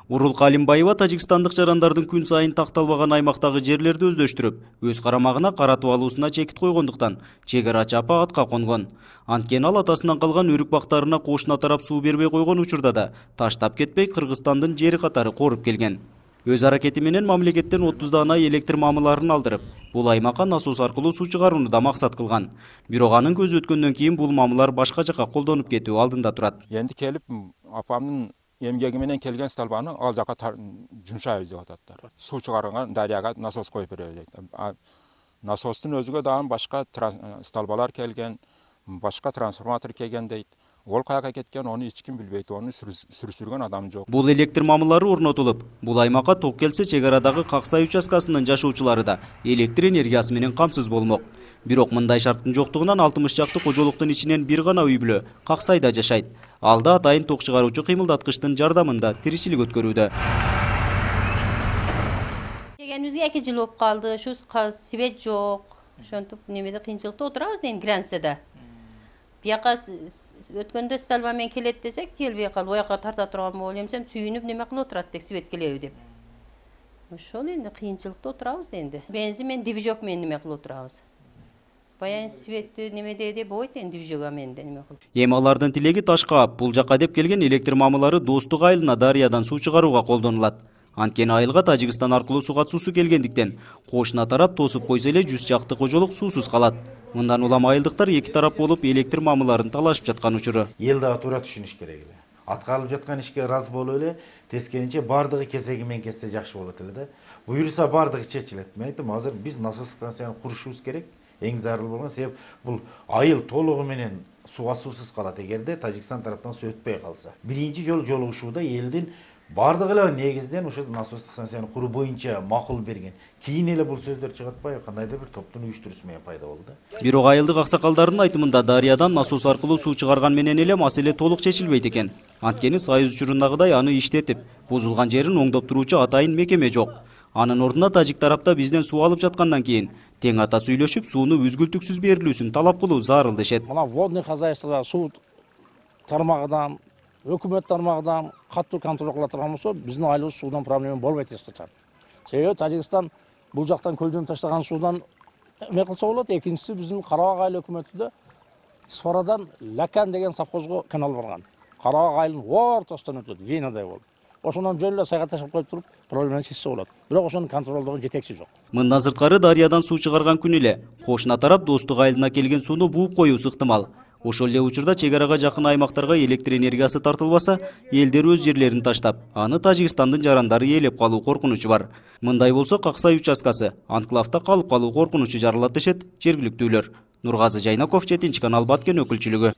Урул Калимбаева тажикстандык жарандардын күн сайын такталбаган аймактагы жерлерди өздөштүрүп, өз карамагына каратып алуусуна чекит койгондуктан чек арачы апа атка конгон. Анткени ал атасынан калган өрүк бактарына кошуна тарап суу бербей койгон учурда да таштап кетпей Кыргызстандын жери катары коруп келген. Өз аракети менен мамлекеттен 30 дана электр мамыларын алдырып, бул аймакка насос аркылуу суу чыгарууну да максат кылган. Бирок анын көзү өткөндөн кийин бул мамылар башка жака колдонуп кетүү алдында турат. Энди келип апамдын эмгеги менен келген столбаны ал жака жумшайбыз деп ататтар. Суу чыгарган дарыяга насос коюп беребиз дейт. Насостун өзүгө дагы башка столбалар келген, башка трансформатор келген дейт. Ол каяка кеткен, оны эч ким билбейт, оны сүрүштүргөн адам жок. Бул электр мамылары орнотулуп, бул аймакка ток келсе чек арадагы Каксай участкасынын жашоочулары да электр энергиясы менен камсыз болмок. Бирок мындай шарттын жоктугунан 60 чакты кожолуктун ичинен бир гана үй бүлө Каксайда жашайт. Алда атайын ток чыгаруучу кыймылдаткычтын жардамында тиричилик өткөрүүдө. Келгенибизге 2 жыл болуп калды. Ушу свет жок. Ошентип немеде кыйынчылыкта отурабыз эми границада. Бияка өткөндө столба менен келет десек, келбей калды. Ояка тарта турган болуп эмсем сүйүнүп неме кылып отурат деп, свет келеби деп. Ошол энди кыйынчылыкта отурабыз энди. Бензин менен движок менен неме кылып отурабыз. Баян светти немеде болбойт энди движога менен неме кылып. Эми алардын тилеги ташка ап, бул жака деп келген электр мамылары Достук айылына дарыядан суу чыгарууга колдонулат. Анткени айылга Тажикстан аркылуу суу катуусу келгендиктен, кошуна тарап тосуп койсо эле 100 чакты кожолук суусуз калат. Мындан улам айылдыктар эки тарап болуп электр мамыларын талашып жаткан учуру. Эл дагы туура түшүнүш керек эле. Атка алып жаткан ишке ыраазы болуп эле, тескеринче бардыгы кесеги менен кетсе жакшы болот эле да. Буюрса бардыгы чечилет. Мен айттым, азыр биз насос станцияны курушубуз керек. Эң зарыл болгон себеп бул айыл толугу менен сууга суусуз калат эгерде Тажикстан тараптан суу өтпөй калса. Биринчи жолу жолугушууда элдин бардыгы эле негизден ушул насостук станцияны куруу боюнча макул берген. Кийин эле бул сөздөр чыгатпай кандайдыр бир топтун уюштуруусу менен пайда болду. Бирок айылдык аксакалдардын айтымында дарыядан насос аркылуу суу чыгарган менен эле маселе толук чечилбейт экен. Анткени Союз учурундагыдай аны иштетип, бузулган жерин оңдоп туруучу атайын мекеме жок. Анын ордуна тажик тарапта бизден суу алып жаткандан кийин тең ата сүйлөшүп, сууну үзгүлтүксүз берилүүсүн талап кылуу зарыл дешет. Мына водный хозяйствода суу тармагынан, өкмөт тармагынан катуу контроль кыла турган болсо, биздин айылыбыз суудан проблема болбойт эч качан. Себеби Тажикстан бул жактан көлдөн таштаган суудан эме кылса болот. Экинчиси биздин Карабак айыл өкмөтүдө Сфарадан Лакан деген совхозго канал барган. Карабак айылынын ортосунан өтөт, Венадай болуп. Ошондон жөн эле сайга ташып коюп туруп, проблеманы чечсе болот. Бирок ошону контролдогон жетекчи жок. Мындан сырткары дарыядан суу чыгарган күнү эле кошуна тарап Достук айылына келген сууну бууп коюусу ыктымал. Ошол эле учурда чек арага жакын аймактарга электр энергиясы тартылбаса, элдер өз жерлерин таштап, аны Тажикстандын жарандары ээлеп калуу коркунучу бар. Мындай болсо Каксай участкасы анклавда калып калуу коркунучу жаралат дешет жергиликтүүлөр. Нургазы Жайнаков, 7 канал Баткен өкүлчүлүгү.